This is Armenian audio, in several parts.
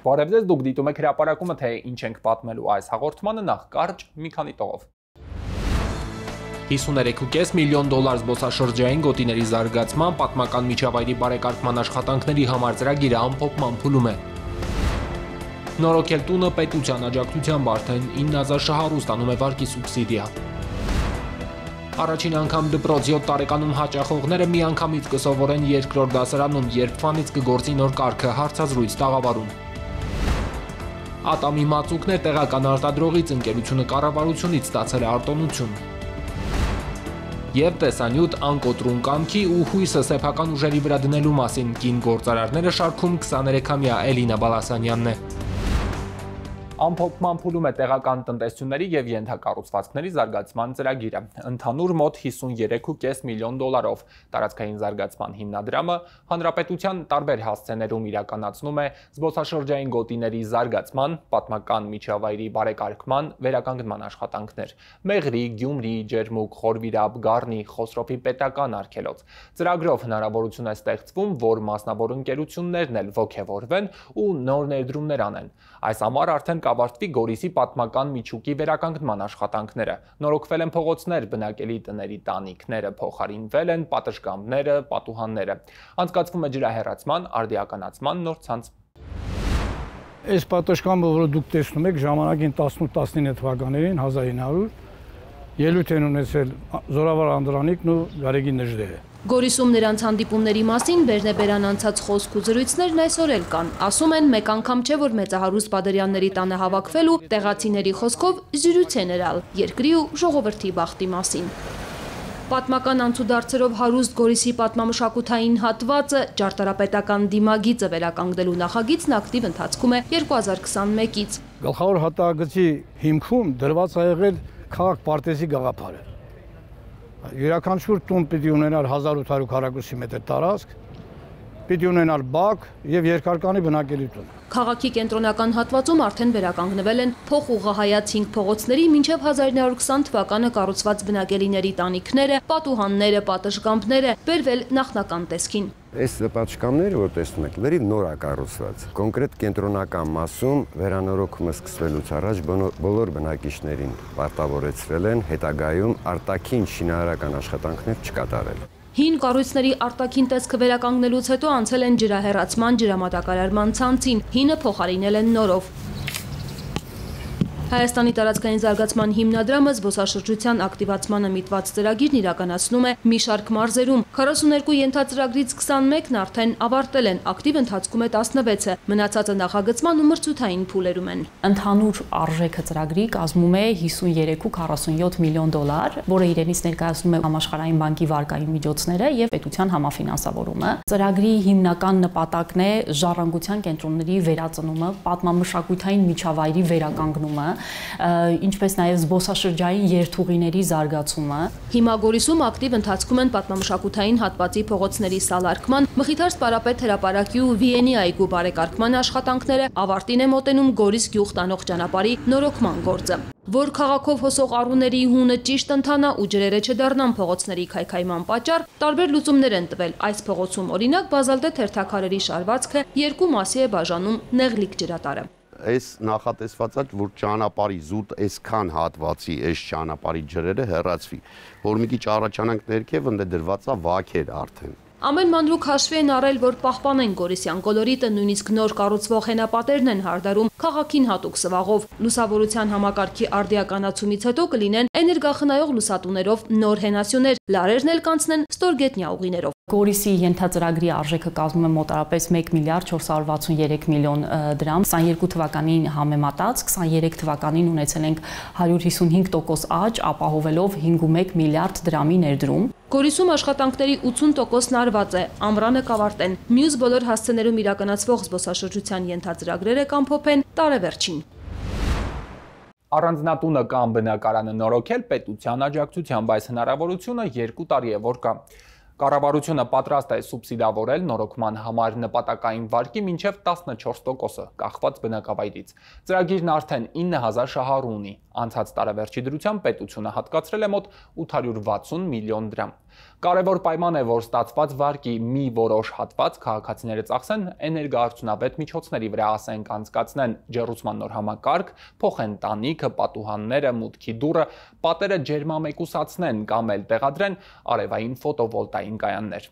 Բարև ձեզ, դուք դիտում եք հրապարակումը, թե ինչ ենք պատմելու այս հաղորդմանը, նախ կարճ մի քանի տողով։ $53.5 միլիոն զբոսաշրջային գոտիների զարգացման պատմական միջավայրի բարեկարգման աշխատանքների համար ծրագիրը ամփոփման փուլում է։ Նորոգել տունը պետության աջակցությամբ արդեն 9000 շահառու ստանում է վարկի սուբսիդիա։ Առաջին անգամ դպրոց 7 տարեկանում հաճախողները միանգամից կսովորեն երկրորդ դասարանում, երբ ֆանից կգործի նոր կարգը հարցազրույց տաղավարում։ Ատամի մածուկներ տեղական արտադրողից ընկերությունը կառավարությունից ստացել է արտոնություն։ Եվ տեսանյութ անկոտրուն կամքի ու հույսը սեփական ուժերի վրա դնելու մասին կին գործարարները շարքում 23-ամյա Էլինա Բալասանյանն է։ Ամփոփման փուլում է տեղական տնտեսությունների եւ ենթակառուցվածքների զարգացման ծրագիրը։ Ընդհանուր մոտ $53.5 միլիոն տարածքային զարգացման հիմնադրամը հանրապետության տարբեր հասցեներում իրականացնում է զբոսաշրջային գոտիների զարգացման, պատմական միջավայրի բարեկարգման, վերականգնման աշխատանքներ։ Մեղրի, Գյումրի, Ջերմուկ, Խորվիրապ, Գառնի, Խոսրոփի պետական արգելոց։ Ծրագրով հնարավորություն է ստեղծվում, որ մասնավոր ընկերություններն էլ ոգևորվեն ու նոր ներդրումներ անեն։ Այս համար արդեն կավարտվի Գորիսի պատմական միջուկի վերականգնման աշխատանքները։ Նորոգվել են փողոցներ, բնակելի տների տանիքները, փոխարինվել են պատշգամբները, պատուհանները։ Անցկացվում է ջրահեռացման, արդիականացման նոր ցանց։ Այս պատշգամբը, որը դուք տեսնում եք, ժամանակին 18-19 թվականներին 1900 ելույթ են ունեցել Զորավար Անդրանիկն ու Գարեգի Նժդեհը։ Գորիսում նրանց հանդիպումների մասին բերնեբերան անցած խոսք ու զրույցներն այսօր էլ կան։ Ասում են, մեկ անգամ չէ, որ մեծահարուստ Բադերյանների տանը հավաքվել ու տեղացիների խոսքով զրույց են ըրալ երկրի ու ժողովրդի բախտի մասին։ Պատմական անցուդարձերով հարուստ Գորիսի պատմամշակութային հատվածը ճարտարապետական դիմագիծը վերականգնելու նախագիծն ակտիվ ընթացքում է 2021-ից։ Գլխավոր հատակագծի հիմքում դրված է եղել քաղաք պարտեզի գաղափարը։ Յուրաքանչյուր տուն պիտի ունենար 1800 քառակուսի մետր տարածք, պիտի ունենար բակ եւ երկարկանի բնակելի տուն։ Քաղաքի կենտրոնական հատվածում արդեն վերականգնվել են փոխուղղահայաց 5 փողոցների մինչև 1920 թվականը կառուցված բնակելիների տանիքները, պատուհանները, պատշգամբները, բերվել նախնական տեսքին։ Այս պատշգամբները, որ տեսնում եք, լրիվ նոր է կառուցված։ Կոնկրետ կենտրոնական մասում վերանորոգումը սկսվելուց առաջ բոլոր բնակիչներին պարտավորեցրել են հետագայում արտաքին շինարարական աշխատանքներ չկատարել։ Հին կառույցների արտաքին տեսքը վերականգնելուց հետո անցել են ջրահեռացման, ջրամատակարարման ցանցին, հինը փոխարինել են նորով։ Հայաստանի տարածքային զարգացման հիմնադրամը զբոսաշրջության ակտիվացմանը միտված ծրագիրն իրականացնում է մի շարք մարզերում։ 42 ենթածրագրից 21-ն արդեն ավարտել են, ակտիվ ընթացքում է 16-ը, մնացածը նախագծման ու մրցութային փուլերում են։ Ընդհանուր արժեքը ծրագրի կազմում է $53.47 միլիոն, որը իրենից ներկայացնում է Համաշխարհային բանկի վարկային միջոցները եւ պետության համաֆինանսավորումը։ Ծրագրի հիմնական նպատակն է ժառանգության կենտրոնների վերածնումը, պատմամշակութային միջավայրի վերականգնումը, ինչպես նաև զբոսաշրջային երթուղիների զարգացումը։ Հիմա Գորիսում ակտիվ ընթացքում են պատմամշակութային հատվածի փողոցների սալարկման, Մխիթար Սպարապետ հրապարակի ու Վիենի այգու բարեկարգման աշխատանքները, ավարտին է մոտենում Գորիս գյուղ տանող ճանապարհի նորոգման գործը։ Որ քաղաքով հոսող առուների հունը ճիշտ ընթանա ու ջրերը չդառնան փողոցների քայքայման պատճառ, տարբեր լուծումներ են տվել։ Այս փողոցում օրինակ բազալտե թերթաքարերի շարվածքը երկու մասի է բաժանում նեղլիկ ջրատարը։ Այս նախատեսված է, որ ճանապարհի զուտ այսքան հատվածի այս ճանապարհի ջրերը հեռացվի, որ մի քիչ առաջանանք ներքև, ընդ դրված է վաքեր արդեն։ Ամեն մանրուք հաշվի են առել, որ պահպանեն Գորիսյան կոլորիտը, նույնիսկ նոր կառուցվող հենապատերն են հարդարում քաղաքին հատուկ սվաղով։ Լուսավորության համակարգի արդիականացումից հետո կլինեն էներգախնայող լուսատուներով նոր հենասյուներ, լարերն էլ կանցնեն ստորգետնյա ուղիներով։ Գորիսի ենթածրագրի արժեքը կազմում է մոտարապես $1.463 միլիոն, 22 թվականին համեմատած 23 թվականին ունեցել ենք 155% աճ, ապահովելով 5.1 միլիարդ դրամի ներդրում։ Գորիսում աշխատանքների 80%-ն արված է, ամռանը կավարտեն։ Մյուս բոլոր հասցեներում իրականացվող զբոսաշրջության ենթածրագրերը կամփոփեն տարեվերջին։ Առանձնատունը կամ բնակարանը նորոգել պետության աջակցությամբ, այս հնարավորությունը 2 տարի է որ կա։ Կառավարությունը պատրաստ է սուբսիդավորել նորոգման համար նպատակային վարկի մինչև 14%-ը, կախված բնակավայրից։ Ծրագիրն արդեն 9000 շահառու ունի։ Անցած տարեվերջի դրությամբ պետությունը հատկացրել է մոտ 860 միլիոն դրամ։ Կարևոր պայման է, որ ստացված վարկի մի որոշ հատված քաղաքացիները ծախսեն էներգոարդյունավետ միջոցների վրա, ասենք անցկացնեն ջեռուցման նոր համակարգ, փոխեն տանիքը, պատուհանները, մուտքի դուռը, պատերը ջերմամեկուսացնեն կամ էլ տեղադրեն արևային ֆոտովոլտային կայաններ։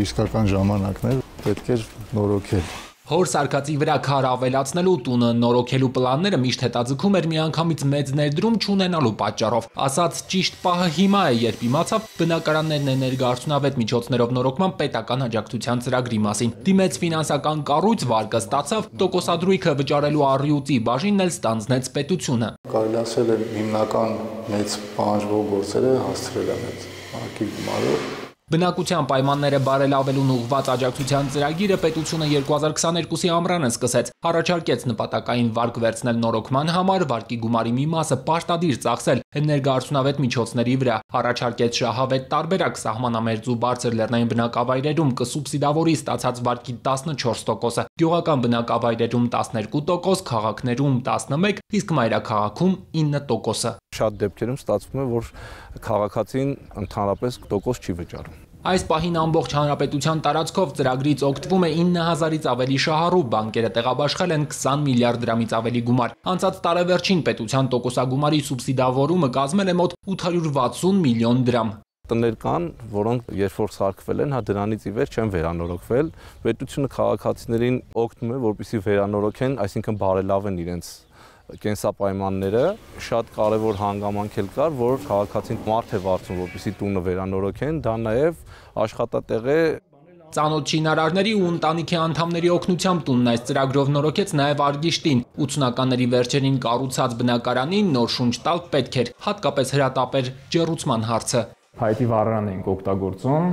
Իսկական ժամանակներ պետք է նորոգել։ Հոր սարկածի վրա քար ավելացնելու տունը նորոգելու պլանները միշտ հետաձգում էր միանգամից մեծ ներդրում չունենալու պատճառով։ Ասած ճիշտ պահը հիմա է, երբ իմացավ բնակարաններն էներգոարդյունավետ միջոցներով նորոգման պետական աջակցության ծրագրի մասին։ Դիմեց ֆինանսական կառույց, վարկը ստացավ, տոկոսադրույքը վճարելու առյուծի բաժինն էլ ստանձնեց պետությունը։ Կարելի ասել է հիմնական մեծ պահանջվող գործերը հասցրել են այդ վարկի գումարով։ Բնակության պայմանները բարելավելուն ուղղված աջակցության ծրագիրը պետությունը 2022-ի ամռանը սկսեց, առաջարկեց նպատակային վարկ վերցնել նորոգման համար, վարկի գումարի մի մասը պարտադիր ծախսել էներգոարդյունավետ միջոցների վրա, առաջարկեց շահավետ տարբերակ սահմանամերձ ու բարձր լեռնային բնակավայրերում կսուբսիդավորի ստացած վարկի 14%, գյուղական բնակավայրերում 12%, քաղաքներում 11%, իսկ մայրաքաղաքում 9%։ Շատ դեպքերում ստացվում է, որ քաղաքացին ընդհանրապես տոկոս չի վճարում։ Այս պահին ամբողջ հանրապետության տարածքով ծրագրից օգտվում է 9000-ից ավելի շահառու, բանկերը տեղաբաշխել են 20 միլիարդ դրամից ավելի գումար։ Անցած տարեվերջին պետության տոկոսագումարի սուբսիդավորումը կազմել է մոտ 860 միլիոն դրամ։ Տներ կան, որոնք երբ որ սարքվել են, դրանից ի վեր չեն վերանորոգվել։ Պետությունը քաղաքացիներին օգնում է, որպեսզի վերանորոգեն, այսինքն բարելավեն իրենց կենսապայմանները, շատ կարևոր հանգամանք էլ կար, որ քաղաքացին մարդ է վարձում, որպեսզի տունը վերանորոգեն, դա նաև աշխատատեղ է։ Ծանոթ շինարարների ու ընտանիքի անդամների օգնությամբ տունն այս ծրագրով նորոգեց նաև Արգիշտին։ 80-ականների վերջերին կառուցած բնակարանին նոր շունչ տալ պետք էր, հատկապես հրատապեր ջեռուցման հարցը։ Փայտի վառարան էինք օգտագործում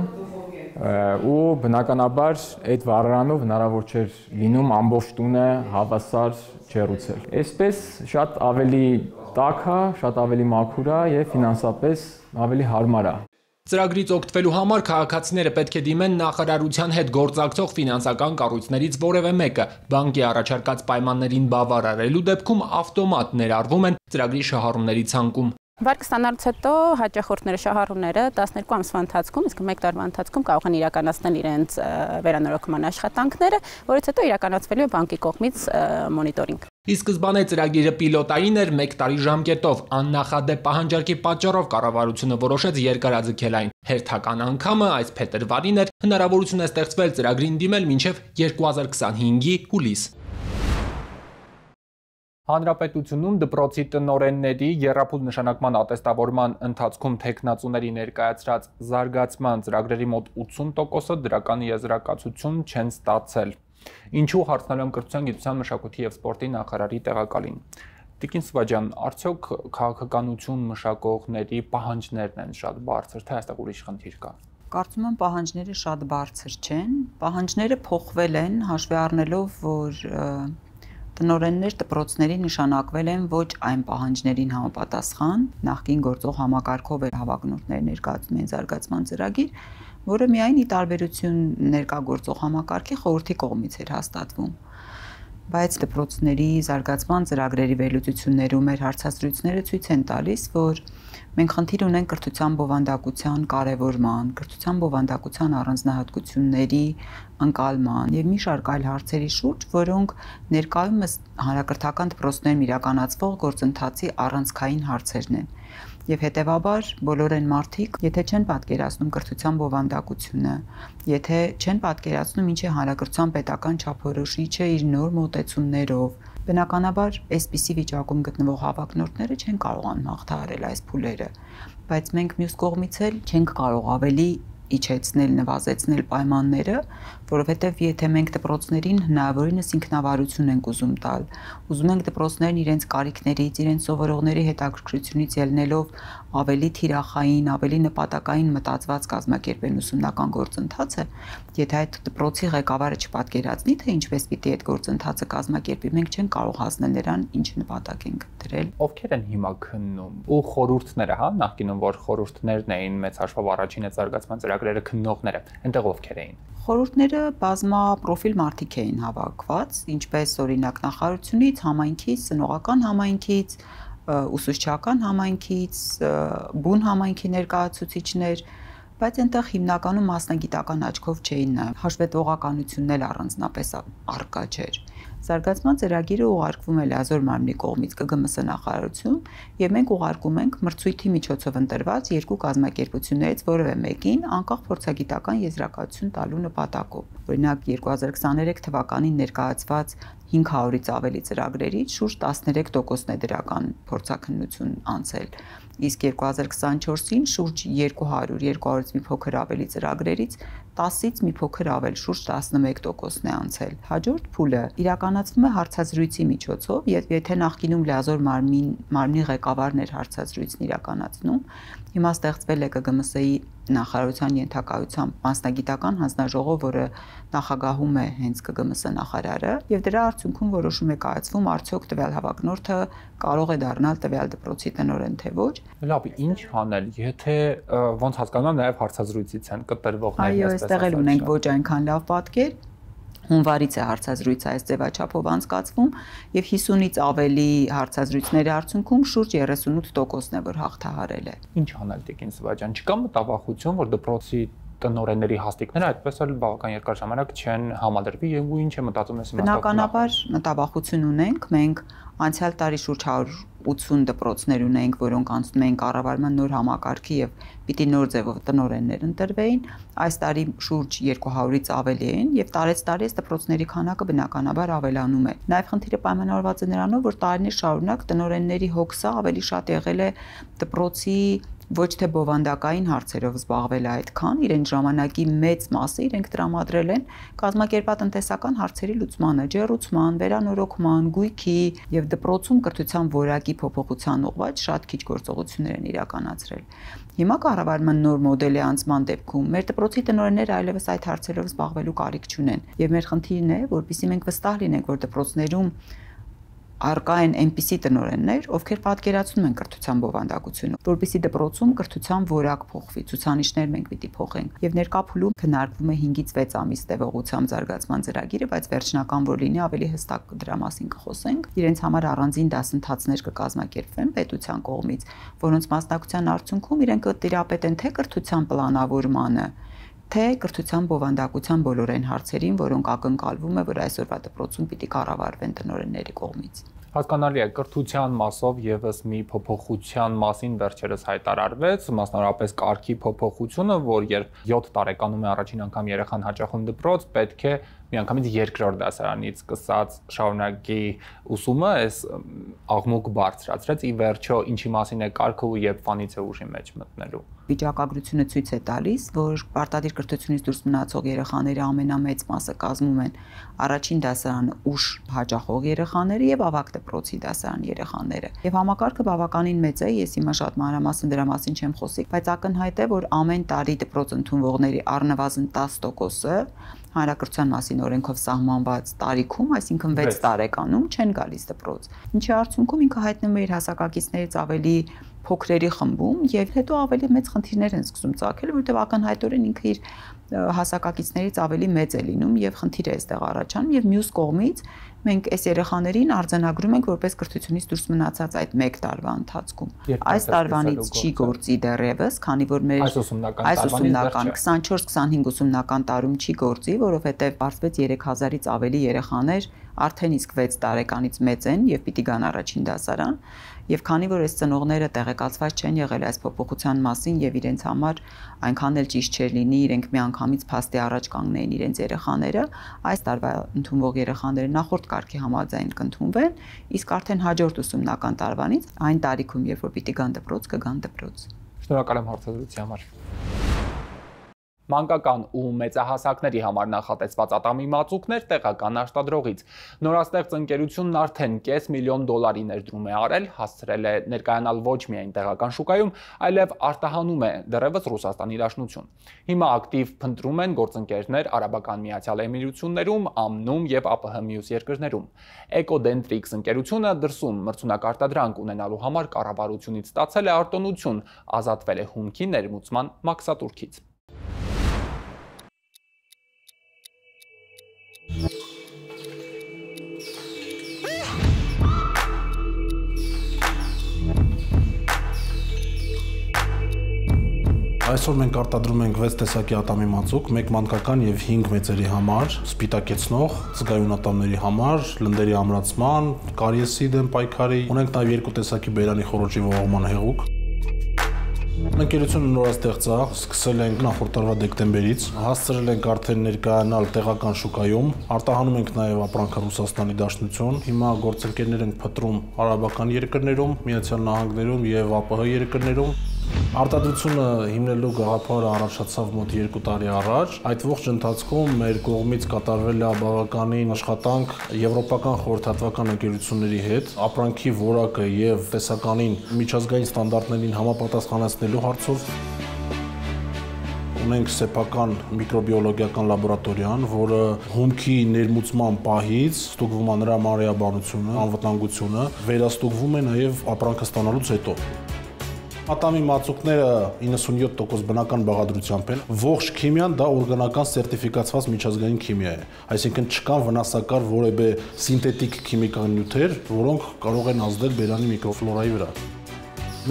ու բնականաբար այդ վառարանով հնարավոր չէր լինում ամբողջ տունը հավասար ջեռուցել։ Այսպես շատ ավելի տաք է, շատ ավելի մաքուր է եւ ֆինանսապես ավելի հարմար է։ Ծրագրից օգտվելու համար քաղաքացիները պետք է դիմեն նախարարության հետ գործակցող ֆինանսական կառույցներից որևէ մեկը։ Բանկի առաջարկած պայմաններին բավարարելու դեպքում ավտոմատ ներառվում են ծրագրի շահառուների ցանկում։ Վարկը ստանալուց հետո հաճախորդները, շահառուները 12 ամսվա ընթացքում, իսկ 1 տարվա ընթացքում կարող են իրականացնել իրենց վերանորոգման աշխատանքները, որից հետո իրականացվելու է բանկի կողմից մոնիտորինգ։ Ի սկզբանե ծրագիրը պիլոտային էր 1 տարի ժամկետով, աննախադեպ պահանջարկի պատճառով կառավարությունը որոշեց երկարաձգել այն։ Հերթական անգամը այս փետրվարին էր, հնարավորություն է ստեղծվել ծրագրին դիմել մինչև 2025-ի հուլիս։ Հանրապետությունում դպրոցի տնօրենների եռափուլ նշանակման ատեստավորման ընթացքում թեկնածուների ներկայացրած զարգացման ծրագրերի մոտ 80%-ը դրական եզրակացություն չեն ստացել։ Ինչու հարցնելու եմ կրթության, գիտության, մշակույթի և սպորտի նախարարի տեղակալին։ Տիկին Սվաջյան, արդյոք քաղաքականություն մշակողների պահանջներն են շատ բարձր, թե այստեղ ուրիշ խնդիր կա։ Կարծում եմ պահանջները շատ բարձր չեն, պահանջները փոխվել են, հաշվի առնելով, որ տնօրեններ դպրոցների նշանակվել են ոչ այն պահանջներին համապատասխան, նախկին գործող համակարգով էր հավակնորդներ ներկայացնում են զարգացման ծրագիր, որը միայն ի տարբերություն ներկա գործող համակարգի խորհրդի կողմից էր հաստատվում։ Բայց դպրոցների զարգացման ծրագրերի վերլուծություններում մեր հարցազրույցները ցույց են տալիս, որ մենք խնդիր ունենք կրթության բովանդակության կարևորման, կրթության բովանդակության առանձնահատկությունների ընկալման եւ մի շարք այլ հարցերի շուրջ, որոնք ներկայումս հանրակրթական դպրոցներում իրականացվող գործընթացի առանցքային հարցերն են։ Եվ հետևաբար բոլոր այն մարդիկ, եթե չեն պատկերացնում կրթության բովանդակությունը, եթե չեն պատկերացնում ինչ է հանրակրթության պետական չափորոշիչը իր նոր մոտեցումներով, բնականաբար այսպիսի վիճակում գտնվող հավակնորդները չեն կարողանում հաղթահարել այս փուլերը, բայց մենք մյուս կողմից էլ չենք կարող ավելի իջեցնել, նվազեցնել պայմանները, որովհետև եթե մենք դպրոցներին հնարավորինս ինքնավարություն ենք ուզում տալ, ուզում ենք դպրոցներն իրենց կարիքներից, իրենց սովորողների հետաքրքրությունից ելնելով ավելի թիրախային, ավելի նպատակային մտածված կազմակերպեն ուսումնական գործընթացը, եթե այդ դպրոցի ղեկավարը չպատկերացնի, թե ինչպես պիտի այդ գործընթացը կազմակերպի, մենք չենք կարող հասնել նրան, ինչ նպատակ ենք դրել։ Ովքեր են հիմա քննում ու խորհուրդները, հա, նախկինում որ խորհուրդներն էին մեծ հաշվով առաջին զարգացման ծրագրերը քննողները, այնտեղ ովքեր էին։ Խորհուրդները բազմապրոֆիլ մարդիկ էին հավաքված, ինչպես օրինակ նախարարությունից, համայնքից, ծնողական համայնքից, ուսուցչական համայնքից, բուն համայնքի ներկայացուցիչներ, բայց այնտեղ հիմնականում մասնագիտական աչքով չէին նայում, հաշվետվողականությունն էլ առանձնապես առկա չէր։ Զարգացման ծրագիրը ուղարկվում է լիազոր մարմնի կողմից ԿԳՄՍ նախարարություն, եւ մենք ուղարկում ենք մրցույթի միջոցով ընտրված երկու կազմակերպություններից որևէ մեկին անկախ փորձագիտական եզրակացություն տալու նպատակով։ Օրինակ 2023 թվականին ներկայացված 500-ից ավելի ծրագրերից շուրջ 13%-ն է դրական փորձաքննություն անցել, իսկ 2024-ին շուրջ 200-200-ից մի փոքր ավելի ծրագրերից 10-ից մի փոքր ավել, շուրջ 11%-ն է անցել։ Հաջորդ փուլը իրականացվում է հարցազրույցի միջոցով, եւ եթե նախկինում լիազոր մարմնի ղեկավարն էր հարցազրույցն իրականացնում, հիմա ստեղծվել է ԿԳՄՍ-ի նախարարության ենթակայությամբ մասնագիտական հանձնաժողով, որը նախագահում է հենց ԿԳՄՍ նախարարը, եւ դրա արդյունքում որոշում է կայացվում արդյոք տվյալ հավակնորդը կարող է դառնալ տվյալ դպրոցի տնօրեն թե ոչ։ Լավ, ինչ անել, եթե ոնց հասկանում եմ նաև հարցազրույցից են կտրվողներն այո, այստեղ էլ ունենք ոչ այնքան լավ պատկեր։ Հունվարից է հարցազրույցը այս ձևաչափով անցկացվում եւ 50-ից ավելի հարցազրույցների արդյունքում շուրջ 38%-ն է, որ հաղթահարել է։ Ինչ անել Տիկին Սվաջան, չկա մտավախություն, որ դպրոցի տնօրենների հաստիկները այդպես էլ բավական երկար ժամանակ չեն համադրվի եւ ու ինչ է մտածում ես իմաստով։ Բնականաբար մտավախություն ունենք, մենք անցյալ տարի շուրջ 180 դպրոցներ ունենք, որոնք անցնում էին կառավարման նոր համակարգի եւ պիտի նոր ձևով տնօրեններ ընտրվեին, այս տարի շուրջ 200-ից ավելի են եւ տարեցտարի այս դպրոցների քանակը բնականաբար ավելանում է։ Նաեւ խնդիրը պայմանավորված է նրանով, որ տարիներ շարունակ տնօրենների հոգսը ավելի շատ եղել է դպրոցի ոչ թե բովանդակային հարցերով զբաղվել այդքան, իրենց ժամանակի մեծ մասը իրենք տրամադրել են կազմակերպատնտեսական հարցերի լուծմանը, ջեռուցման, վերանորոգման, գույքի եւ դպրոցում կրթության որակի փոփոխության ուղղված շատ քիչ գործողություններ են իրականացրել։ Հիմա կառավարման նոր մոդելի անցման դեպքում մեր դպրոցի տնօրենները այլևս այդ հարցերով զբաղվելու կարիք չունեն եւ մեր խնդիրն է, որպեսզի մենք վստահ լինենք, որ դպրոցներում առկա են այնպիսի տնօրեններ, ովքեր պատկերացնում են կրթության բովանդակությունը, որպեսզի դպրոցում կրթության որակ փոխվի, ցուցանիշներ մենք պիտի փոխենք։ Եվ ներկա փուլում քննարկվում է 5-ից 6 ամիս տևողությամբ զարգացման ծրագիրը, բայց վերջնական որ լինի ավելի հստակ դրա մասին կխոսենք։ Իրենց համար առանձին դասընթացներ կկազմակերպվեն պետության կողմից, որոնց մասնակցության արդյունքում իրենք կտիրապետեն թե կրթության պլանավորմանը, թե կրթության բովանդակության բոլոր այն հարցերին, որոնք ակնկալվում է, որ այսօրվա դպրոցում պիտի կառավարվեն տնօրենների կողմից։ Հասկանալի է, կրթության մասով եւս մի փոփոխության մասին վերջերս հայտարարվեց, մասնավորապես կարգի փոփոխությունը, որ երբ 7 տարեկանում է առաջին անգամ երեխան հաճախում դպրոց, պետք է միանգամից երկրորդ դասարանից սկսած շարունակի ուսումը, այս աղմուկ բարձրացրեց, ի վերջո ինչի մասին է կարգը ու երբ ֆանից է ուժի մեջ մտնելու։ Վիճակագրությունը ցույց է տալիս, որ պարտադիր կրթությունից դուրս մնացող երեխաների ամենամեծ մասը կազմում են առաջին դասարանը ուշ հաճախող երեխաները եւ ավագ դպրոցի դասարան երեխաները։ Եվ համակարգը բավականին մեծ է, ես հիմա շատ մանրամասն դրա մասին չեմ խոսի, բայց ակնհայտ է, որ ամեն տարի դպրոց ընդունվողների առնվազն 10%-ը հանրակրթության մասին օրենքով սահմանված տարիքում, այսինքն 6 տարեկանում չեն գալիս դպրոց։ Ինչի արդյունքում ինքը հայտնվում է իր հասակակիցներից ավելի փոքրերի խմբում եւ հետո ավելի մեծ խնդիրներ են սկսում ծագել, որովհետեւ ակնհայտորեն ինքը իր հասակակիցներից ավելի մեծ է լինում եւ խնդիր է այստեղ առաջանում եւ մյուս կողմից մենք այս երեխաներին արձանագրում ենք որպես կրթությունից դուրս մնացած այդ 1 տարվա ընթացքում։ Այս տարվանից չի գործի դեռևս, քանի որ մեր այս ուսումնական 24-25 ուսումնական տարում չի գործի, որովհետեւ բարձվեց 3000-ից ավելի երեխաներ արդեն իսկ 6 տարեկանից մեծ են եւ պիտի գան առաջին դասարան, եւ քանի որ այս ծնողները տեղեկացված չեն եղել այս փոփոխության մասին եւ իրենց համար այնքան էլ ճիշտ չէր լինի իրենք միանգամից փաստի առաջ կանգնեին իրենց երեխաները, այս տարվա ընդունվող երեխաները նախորդ կարգի համաձայն կընդունվեն, իսկ արդեն հաջորդ ուսումնական տարվանից այն տարիքում, երբ որ պիտի գան դպրոց, կգան դպրոց։ Շնորհակալ եմ հարցազրույցի համար։ Մանկական ու մեծահասակների համար նախատեսված ատամի մածուկներ տեղական արտադրողից։ Նորաստեղծ ընկերությունն արդեն $500,000 ներդրում է արել, հասցրել է ներկայանալ ոչ միայն տեղական շուկայում, այլև արտահանում է դեռևս Ռուսաստանի Դաշնություն։ Հիմա ակտիվ փնտրում են գործընկերներ Արաբական Միացյալ Էմիրություններում, ԱՄՆ-ում եւ ԱՊՀ մյուս երկրներում։ Ecodentrix ընկերությունը դրսում մրցունակարտադրանք ունենալու համար կառավարությունից ստացել է արտոնություն, ազատվել է հումքի ներմուծման մաքսատուրքից։ Այսօր մենք արտադրում ենք 6 տեսակի ատամի մածուկ, 1 մանկական եւ 5 մեծերի համար, սպիտակեցնող, զգայուն ատամների համար, լնդերի ամրացման, կարիեսի դեմ պայքարի, ունենք նաեւ 2 տեսակի բերանի խոռոչի ողողման հեղուկ։ Ընկերությունը նորաստեղծ է, սկսել ենք նախորդ տարվա դեկտեմբերից, հասցրել ենք արդեն ներկայանալ տեղական շուկայում, արտահանում ենք նաև ապրանքը Ռուսաստանի Դաշնություն, հիմա գործընկերներ ենք փտրում արաբական երկրներում, Միացյալ Նահանգներում եւ ԱՊՀ երկրներում։ Արտադրությունը հիմնելու գաղափարը առաջացավ մոտ 2 տարի առաջ։ Այդ ողջ ընթացքում մեր կողմից կատարվել է բավականին աշխատանք եվրոպական խորհրդատվական ընկերությունների հետ, ապրանքի որակը եւ տեսականին միջազգային ստանդարտներին համապատասխանեցնելու հարցով։ Ունենք սեփական միկրոբիոլոգիական լաբորատորիան, որը հումքի ներմուծման պահից ստուգվում է նրա մանրէաբանությունը, անվտանգությունը, վերաստուգվում է նաեւ ապրանքը ստանալուց հետո։ Ատամի մածուկները 97% բնական բաղադրությամբ են։ Ողջ քիմիան դա օրգանական սերտիֆիկացված միջազգային քիմիա է։ Այսինքն չկան վնասակար որևէ սինթետիկ քիմիկական նյութեր, որոնք կարող են ազդել բերանի միկրոֆլորայի վրա։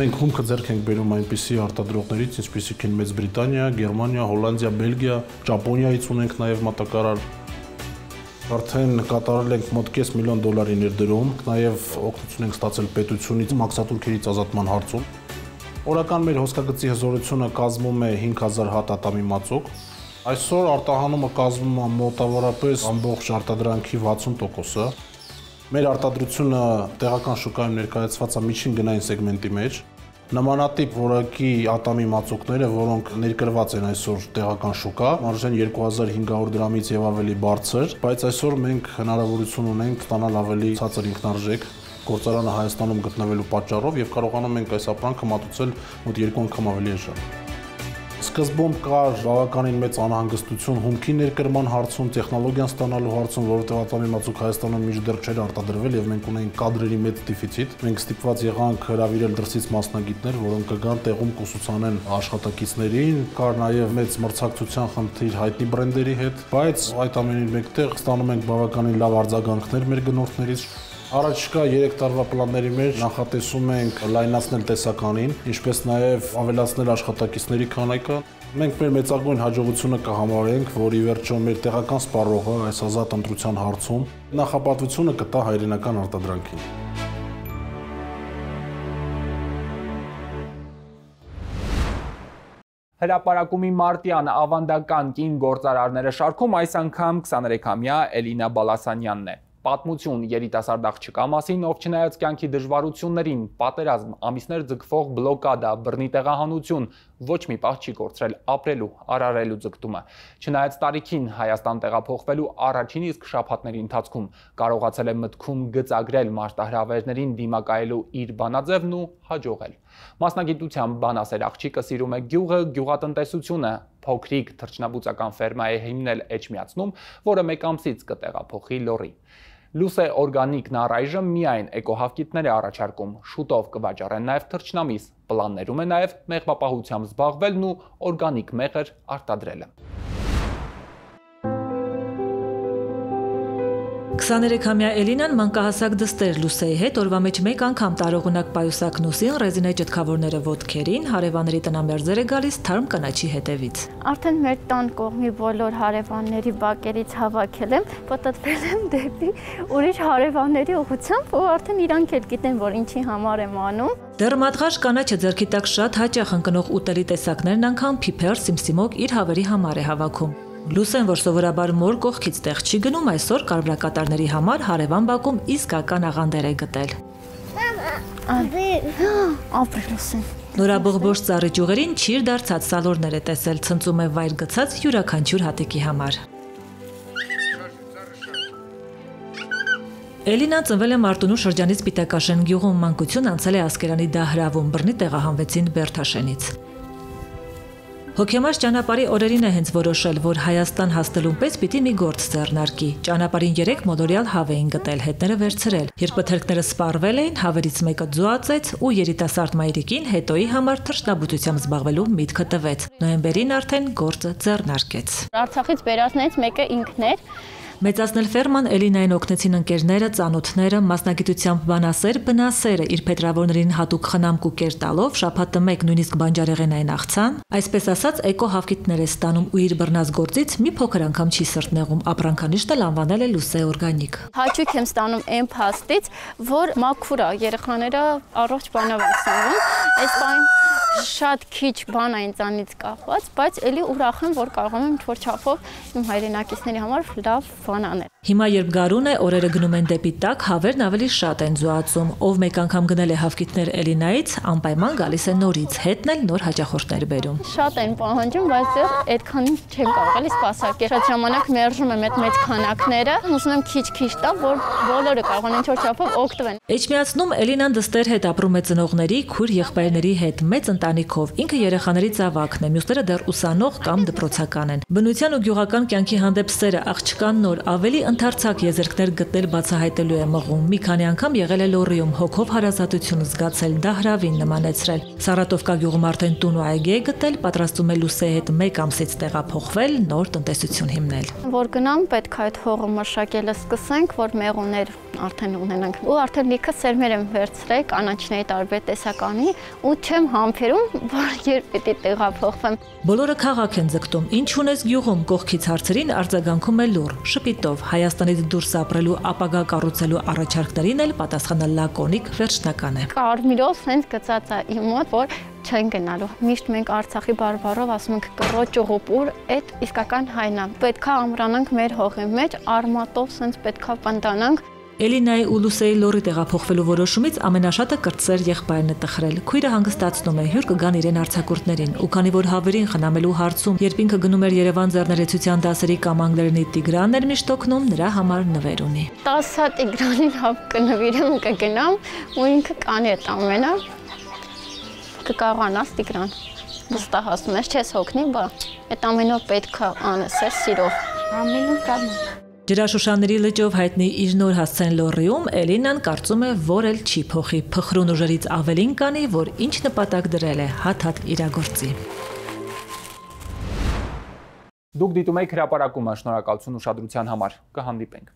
Մենք հումքը ձեռք ենք բերում այնպիսի արտադրողներից, ինչպիսիք են Մեծ Բրիտանիա, Գերմանիա, Հոլանդիա, Բելգիա, Ճապոնիայից ունենք նաև մատակարար։ Արդեն կատարել ենք մոտ $500 միլիոն ներդրում, նաև օգնություն ենք ստացել պետությունից մաքսատուրքերից ազատման հարցում։ Օրական մեր հոսքագծի հզորությունը կազմում է 5000 հատ ատամի մածուկ։ Այսօր արտահանումը կազմում է մոտավորապես ամբողջ արտադրանքի 60%-ը։ Մեր արտադրությունը տեղական շուկայում ներկայացված է միջին գնային սեգմենտի մեջ։ Նմանատիպ որակի ատամի մածուկները, որոնք ներկրված են այսօր տեղական շուկա, արժեն 2500 դրամից եւ ավելի բարձր, բայց այսօր մենք հնարավորություն ունենք ստանալ ավելի ցածր ինքնարժեք գործարանը Հայաստանում գտնվելու պատճառով եւ կարողանում ենք այս ապրանքը մատուցել մոտ 2 անգամ ավելի էժան։ Սկզբում կար բավականին մեծ անհանգստություն հումքի ներկրման հարցում, տեխնոլոգիան ստանալու հարցում, որովհետեւ ատամի մածուկ Հայաստանում մինչդեռ չէր արտադրվել եւ մենք ունեինք կադրերի մեծ դեֆիցիտ։ Մենք ստիպված եղանք հրավիրել դրսից մասնագետներ, որոնք կգան տեղում կուսուցանեն աշխատակիցներին, կար նաեւ մեծ մրցակցության խնդիր հայտնի բրենդերի հետ, բայց այդ ամենին մեկտեղ ստանում ենք բավականին լավ արձագանքներ մեր գնորդներից։ Առաջիկա 3 տարվա պլանների մեջ նախատեսում ենք լայնացնել տեսականին, ինչպես նաև ավելացնել աշխատակիցների քանակը։ Մենք մեր մեծագույն հաջողությունը կհամարենք, որ ի վերջո մեր տեղական սպառողը այս ազատ ընտրության հարցում նախապատվությունը կտա հայրենական արտադրանքին։ Հրապարակումի մարտյան ավանդական կին գործարարները շարքում այս անգամ 23-ամյա Էլինա Բալասանյանն է։ Պատմություն երիտասարդ աղջկա մասին, ով չնայած կյանքի դժվարություններին, պատերազմ, ամիսներ ձգվող բլոկադա, բռնի տեղահանություն, ոչ մի պահ չի կորցրել ապրելու, արարելու ձգտումը։ Չնայած տարիքին Հայաստան տեղափոխվելու առաջին իսկ շաբաթների ընթացքում կարողացել է մտքում գծագրել մարտահրավերներին դիմակայելու իր բանաձևն ու հաջողել։ Մասնագիտությամբ բանասեր աղջիկը սիրում է գյուղը, գյուղատնտեսությունը, փոքրիկ թռչնաբուծական ֆերմա է հիմնել Էջմիածնում, որը մեկ ամսից կտեղափոխի Լոռի։ Լուսե օրգանիկն առայժմ միայն էկոհավկիտներ է առաջարկում, շուտով կվաճառեն նաև թռչնամիս, պլաններում է նաև մեղվապահությամբ զբաղվելն ու օրգանիկ մեղր արտադրելը։ 23-ամյա Էլինան մանկահասակ դստեր Լուսեի հետ օրվա մեջ մեկ անգամ տարողունակ պայուսակ նոսին, ռեզինե ճտքավորները ոտքերին, հարևանների տնամերձեր է գալիս թարմ կանաչի հետևից։ Արդեն մեր տան կողմի բոլոր հարևանների բակերից հավաքել եմ, պատտվել եմ դեպի ուրիշ հարևանների ուղղությամբ, ու արդեն իրանք էլ գիտեն, որ ինչի համար եմ անում։ Դեռ մատղաշ կանաչը ձեռքի տակ շատ հաճախ ընկնող ուտելի տեսակներն անգամ փիփեր, սիմսիմոկ իր հավերի համար է հավաքում։ Լուսեն, որ սովորաբար մոր կողքից տեղ չի գնում, այսօր կարմրակատարների համար հարևան բակում իսկական աղանդեր է գտել։ Նորաբողբոջ ծառի ճյուղերին չիր դարձած սալորներ է տեսել, ցնծում է վայր գցած յուրաքանչյուր հատիկի համար։ Էլինան ծնվել է Մարտունու շրջանի Սպիտակաշեն գյուղում, մանկություն անցել է Ասկերանի դահրավում, բռնի տեղահանվեցին Բերթաշենից։ Հոգեմար ճանապարհի օրերին է հենց որոշել, որ Հայաստան հասնելուն պես պիտի մի գործ ձեռնարկի։ Ճանապարհին 3 մոլորյալ հավ էին գտել, հետները վերցրել։ Երբ պթերքները սպառվել էին, հավերից մեկը ձուացեց ու երիտասարդ մայրիկին հետոյի համար թռչնաբուծությամբ զբաղվելու միտքը տվեց։ Նոյեմբերին արդեն գործը ձեռնարկեց։ Արցախից բերածներից մեկը ինքն էր, Մեծացնել ֆերման Էլինային օգնեցին ընկերները, ծանոթները, մասնագիտությամբ բանասեր, բնասերը իր փետրավորներին հատուկ խնամք ու կեր տալով շաբաթը մեկ նույնիսկ բանջարեղենային աղցան, այսպես ասած էկո հավկիթներ է ստանում ու իր բռնած գործից մի փոքր անգամ չի սրտնեղում, ապրանքանիշն էլ անվանել է Լուսե օրգանիկ։ Հաճույք եմ ստանում այն փաստից, որ մաքուր է, երեխաները առողջ բանով են սնվում, այս բան շատ քիչ բան է ինձանից կախված, բայց էլի ուրախ եմ, որ կարող եմ ինչ-որ չափով իմ հայրենակիցների համար լավ բան անել։ Հիմա երբ գարուն է, օրերը գնում են դեպի տակ, հավերն ավելի շատ են զուացում։ Ով մեկ անգամ գնել է հավկիթներ Էլինայից, անպայման գալիս է նորից, հետն էլ նոր հաճախորդներ բերում։ Շատ են պահանջում, բայց դեռ այդքանին չեմ կարող էլի սպասարկել։ Շատ ժամանակ մերժում եմ այդ մեծ քանակները, ուզում եմ քիչ-քիչ տա, որ բոլորը կարողան ինչ-որ չափով օգտվեն։ Էջմիածնում Էլինան դստեր հետ ապրում է ծնողների, քույր եղբայրների հետ, մեծ ընտանիքով։ Ինքը երեխաների ծավալն է, մյուսները դեռ ուսանող կամ դպրոցական են։ Բնության ու գյուղական կյանքի հանդեպ սերը աղջկան նոր ավելի ընդարձակ եզերքներ գտնել բացահայտելու է մղում։ Մի քանի անգամ եղել է Լոռիում, հոգով հարազատություն զգացել, դա հրավին նմանեցրել։ Սարատովկա գյուղում արդեն տուն ու այգի է գտել, պատրաստում է Լուսեի հետ 1 ամսից տեղափոխվել, նոր տնտեսություն հիմնել։ Որ գնամ, պետք է այդ հողը մշակելը սկսենք, որ մեղուներ արդեն ունենանք։ Ու արդեն լիքը սերմեր եմ վերցրել կանաչների տարբեր տեսականի ու չեմ համբերում, որ երբ պիտի տեղափոխվեմ։ Բոլորը քաղաք են ձգտում։ Ինչ ունես գյուղում, կողքից հարցերին արձագանքում է լուր, շպիտով։ Հայաստանից դուրս ապրելու, ապագա կառուցելու առաջարկներին էլ պատասխանը լակոնիկ, վերջնական է։ Կարմիրով սենց գծած է իմ մոտ, որ չեն գնալու։ Միշտ մենք Արցախի բարբառով ասում ենք կռոջ ուղուպուր, այդ իսկական հայն է։ Պետքա ամրանանք մեր հողի մեջ, արմատով սենց պետքա պնդանանք։ Էլինայի ու Լուսեի Լոռի տեղափոխվելու որոշումից ամենաշատը կրտսեր եղբայրն է տխրել։ Քույրը հանգստացնում է, հյուր կգան իրեն արձակուրդներին, ու քանի որ հավերին խնամելու հարցում, երբ ինքը գնում էր Երևան ձեռներեցության դասերի կամ անգլերենի Տիգրանն էր միշտ օգնում, նրա համար նվեր ունի։ 10 Տիգրանին հապ կնվիրեմ, կգնամ ու ինքը կանի այդ ամենը։ Կկարողանաս Տիգրան։ Վստահ ասում ես, չես հոգնի, բա այդ ամենով պետք է անես, սիրով։ Ամենը կան։ Ջրաշուշանների լճով հայտնի իր նոր հասցեն Լոռիում Էլինան կարծում է, որ էլ չի փոխի, փխրուն ուժերից ավելին կանի, որ ինչ նպատակ դրել է, հատ-հատ իրագործի։ Դուք դիտում եք հրապարակումը, շնորհակալություն ուշադրության համար, կհանդիպենք։